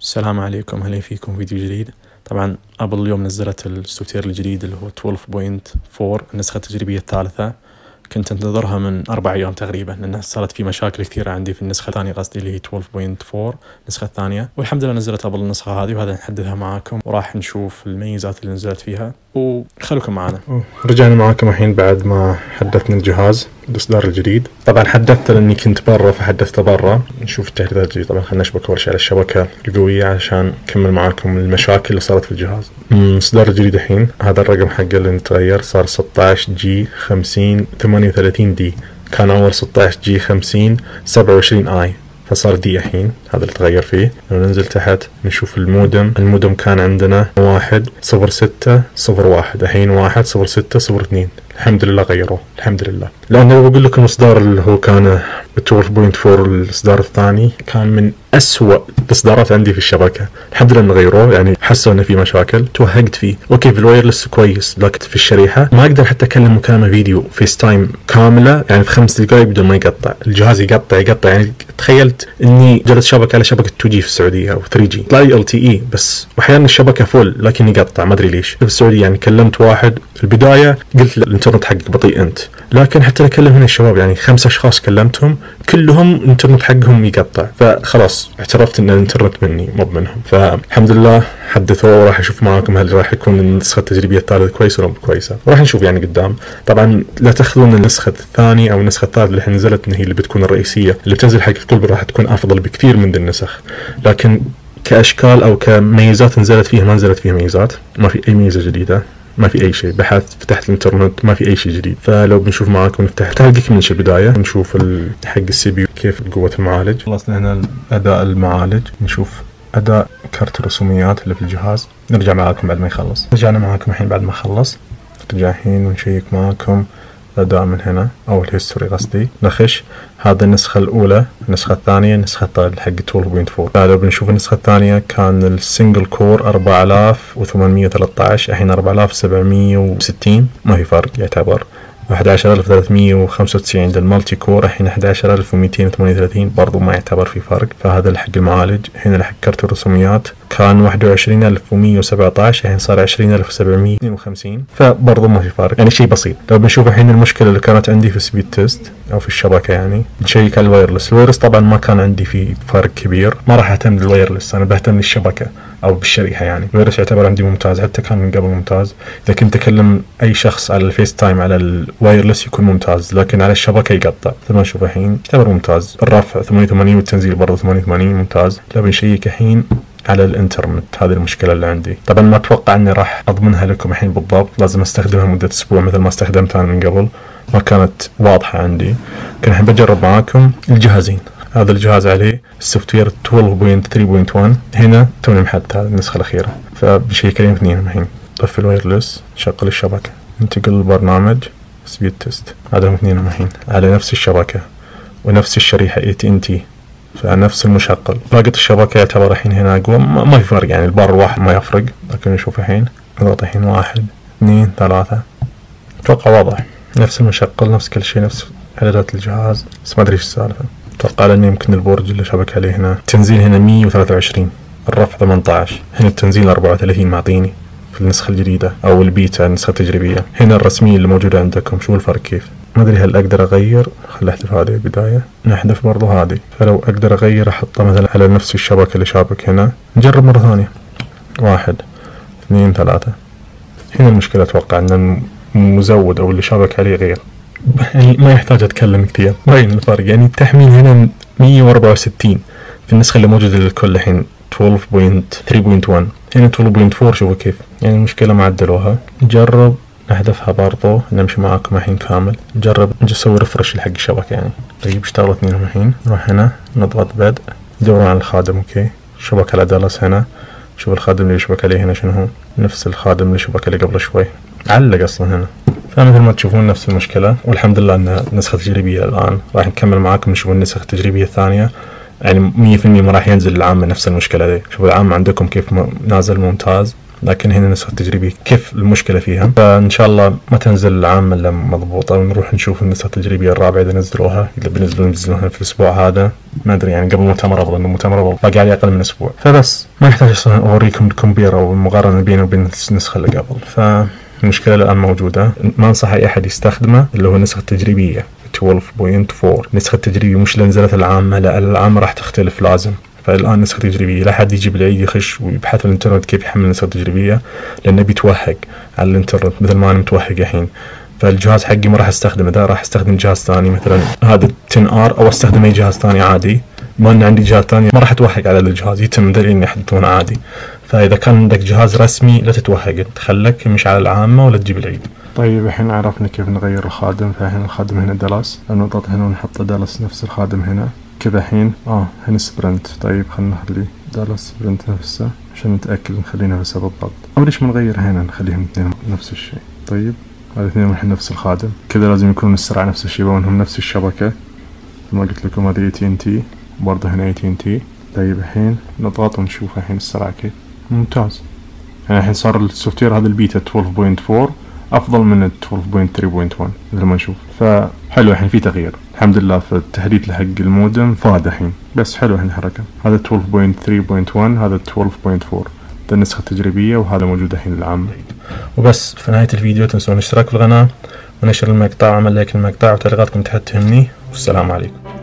السلام عليكم، اهلا فيكم فيديو جديد. طبعا ابل اليوم نزلت السوفت وير الجديد اللي هو 12.4 النسخة التجريبية الثالثة. كنت انتظرها من 4 أيام تقريبا، لأنها صارت في مشاكل كثيرة عندي في النسخة الثانية، قصدي اللي هي 12.4 النسخة الثانية، والحمد لله نزلت ابل النسخة هذه، وهذا نحدثها معاكم وراح نشوف الميزات اللي نزلت فيها، وخلوكم معنا. رجعنا معاكم الحين بعد ما حدثنا الجهاز الإصدار الجديد. طبعا حدثته لأني كنت برا فحدثته برا. نشوف التحديثات الجديدة. طبعا خلينا نشبك أول شيء على الشبكة القوية عشان نكمل معاكم المشاكل اللي صارت في الجهاز. الإصدار الجديد الحين هذا الرقم حقه اللي نتغير، صار 16G 50 38D، كان أول 16G 50 27i، فصار دي الحين، هذا اللي تغير فيه. لو ننزل تحت نشوف المودم كان عندنا 1.06.01، الحين 1.06.02. الحمد لله غيروه، الحمد لله. لأنه لو بقول لكم الإصدار اللي هو كان 12.4 الإصدار الثاني كان من أسوأ الإصدارات عندي في الشبكة. الحمد لله إنه غيروه، يعني حسوا إنه في مشاكل، توهقت فيه. أوكي في الوايرلس كويس، لكن في الشريحة ما أقدر حتى أكلم مكالمة فيديو فيس تايم كاملة يعني في 5 دقائق بدون ما يقطع الجهاز، يقطع يعني تخيلت إني جلست شبكة على شبكة 2G في السعودية أو 3G، طلع لي LTE بس، وأحيانا الشبكة فول لكن يقطع ما أدري ليش. في السعودية يعني كلمت واحد في البداية قلت له الإنترنت حقك بطيء أنت، لكن حتى أكلم هنا الشباب يعني 5 أشخاص كلمتهم كلهم الإنترنت حقهم يقطع، فخلاص اعترفت إن الإنترنت مني مو منهم. فالحمد لله حدثوه، وراح أشوف معاكم هل راح يكون النسخة التجريبية الثالثة كويسة ولا مو كويسة، وراح نشوف يعني قدام. طبعا لا تاخذون النسخة الثانية أو النسخة الثالثة اللي نزلت إن هي اللي بتكون الرئيسية اللي بتنزل حق الكل، راح تكون أفضل بكثير من ذي النسخ، لكن كأشكال أو كميزات نزلت فيها ما نزلت فيها ميزات، ما في أي ميزة جديدة، ما في أي شيء. بحثت فتحت الإنترنت ما في أي شيء جديد. فلو بنشوف معاكم نفتح تلقيك من البداية، نشوف حق السي بي يو كيف قوة المعالج. خلصنا هنا أداء المعالج، نشوف أداء كارت الرسوميات اللي في الجهاز. نرجع معاكم بعد ما يخلص. رجعنا معاكم الحين بعد ما خلص، نرجع الحين ونشيك معاكم الأداء من هنا أو الهيستوري قصدي. نخش هذا النسخة الأولى، النسخة الثانية، النسخة حق 12.4. لو بنشوف النسخة الثانية كان السنجل كور 4813، الحين 4760، ما في فرق يعتبر. 11395 للمالتي كور، الحين 11238، برضو ما يعتبر في فرق. فهذا اللي حق المعالج. هنا حق كرت الرسوميات كان 21117، الحين صار 20752، فبرضو ما في فرق، يعني شيء بسيط. لو بنشوف الحين المشكلة اللي كانت عندي في سبيد تيست أو في الشبكة، يعني نشيك على الوايرلس طبعا ما كان عندي فيه فرق كبير، ما راح أهتم بالوايرلس، أنا بهتم بالشبكة أو بالشريحة. يعني الوايرلس يعتبر عندي ممتاز، حتى كان من قبل ممتاز. إذا كنت أكلم أي شخص على الفيس تايم على الوايرلس يكون ممتاز، لكن على الشبكة يقطع. مثل ما نشوف الحين يعتبر ممتاز، الرفع 88 والتنزيل برضه 88 ممتاز. لو بنشيك الحين على الانترنت، هذه المشكلة اللي عندي. طبعا ما اتوقع اني راح اضمنها لكم الحين بالضبط، لازم استخدمها مدة اسبوع مثل ما استخدمتها من قبل، ما كانت واضحة عندي. لكن الحين بجرب معاكم الجهازين. هذا الجهاز عليه السوفت وير 12.3.1، هنا توني محدث هذه النسخة الأخيرة، فبشيك عليهم اثنين الحين. طفي الوايرلس، شغل الشبكة، انتقل للبرنامج سبيد تيست، هذا اثنين الحين على نفس الشبكة ونفس الشريحة AT&T، فنفس المشغل. باقي الشبكة يعتبر الحين هنا أقوى، ما في فرق يعني، البار الواحد ما يفرق. لكن نشوف الحين نضغط الحين 1 2 3، أتوقع واضح، نفس المشغل نفس كل شيء، نفس إعدادات الجهاز، بس ما أدري إيش السالفة. أتوقع لأن يمكن البرج اللي شبك عليه هنا التنزيل هنا 123، الرفع 18، هنا التنزيل 34 معطيني في النسخة الجديدة أو البيتا النسخة التجريبية. هنا الرسمية اللي موجودة عندكم، شو الفرق كيف؟ ما أدري هل أقدر أغير. خل أحذف هذه البداية، نحذف برضو هذه. فلو أقدر أغير أحطها مثلا على نفس الشبكة اللي شابك هنا. نجرب مرة ثانية، 1 2 3. هنا المشكلة أتوقع أن المزود أو اللي شابك عليه غير، يعني ما يحتاج أتكلم كثير، باين الفرق. يعني التحميل هنا 164 في النسخة اللي موجودة للكل الحين 12.3.1، هنا 12.4. شوفوا كيف يعني المشكلة ما عدلوها. نجرب نحذفها برضو، نمشي معاكم الحين كامل. نجرب نسوي ريفرش لحق الشبكة يعني. طيب اشتغلوا اثنينهم الحين. نروح هنا نضغط بدء، ندور على الخادم. اوكي شبكة على دالاس هنا، شوف الخادم اللي يشبك عليه هنا شنو هو، نفس الخادم اللي شبك عليه قبل شوي، علق اصلا هنا. فمثل ما تشوفون نفس المشكلة، والحمد لله ان نسخة تجريبية الان. راح نكمل معاكم نشوف النسخة التجريبية الثانية، يعني 100% ما راح ينزل العام نفس المشكلة دي. شوفوا العام عندكم كيف نازل ممتاز، لكن هنا النسخة التجريبية كيف المشكلة فيها. فإن شاء الله ما تنزل العامة إلا مضبوطة، ونروح نشوف النسخة التجريبية الرابعة إذا نزلوها، إذا بينزلوها في الأسبوع هذا ما أدري، يعني قبل المؤتمر أفضل، إنه المؤتمر باقي عليه أقل من أسبوع. فبس ما يحتاج أصلا أوريكم الكمبير أو المقارنة بينه وبين النسخة اللي قبل. فالمشكلة الآن موجودة، ما أنصح أي أحد يستخدمه اللي هو النسخة التجريبية 12.4. النسخة التجريبية مش لنزلت العامة، لا العامة راح تختلف لازم. فالآن نسخة تجريبية، لا حد يجي بالعيد يخش ويبحث في الإنترنت كيف يحمل نسخة تجريبية، لأنه بيتوهق على الإنترنت مثل ما أنا متوهق الحين. فالجهاز حقي ما راح استخدمه، ده راح استخدم جهاز ثاني مثلا هذا 10R، أو استخدم أي جهاز ثاني عادي. ما أن عندي جهاز ثاني ما راح أتوهق على الجهاز، يتم دليل يحدثونه عادي. فإذا كان عندك جهاز رسمي لا تتوهق، تخلك مش على العامة ولا تجيب العيد. طيب الحين عرفنا كيف نغير الخادم. فالحين الخادم هنا دالاس، نضغط هنا ونحط دالاس نفس الخادم هنا كذا. الحين هنا سبرنت. طيب خلنا نخلي دالاس سبرنت نفسه عشان نتأكد نخلي نفسه بالضبط. أو ليش ما نغير هنا نخليهم اثنين نفس الشيء. طيب هذا اثنين الحين نفس الخادم كذا، لازم يكونون السرعة نفس الشيء وانهم نفس الشبكة. ما قلت لكم هذه AT&T، برضه هنا AT&T. طيب الحين نضغط ونشوف الحين السرعة كيف. ممتاز. يعني الحين صار السوفت وير هذا البيتا 12.4 أفضل من 12.3.1 مثل ما نشوف. فحلو الحين في تغيير الحمد لله في التحديث لحق المودم فاد الحين. بس حلو الحين الحركة. هذا 12.3.1، هذا 12.4. ده النسخة التجريبية، وهذا موجود الحين العام. وبس في نهاية الفيديو تنسون الاشتراك في القناة ونشر المقطع وعمل لايك للمقطع، وتعليقاتكم تحت تهمني. والسلام عليكم.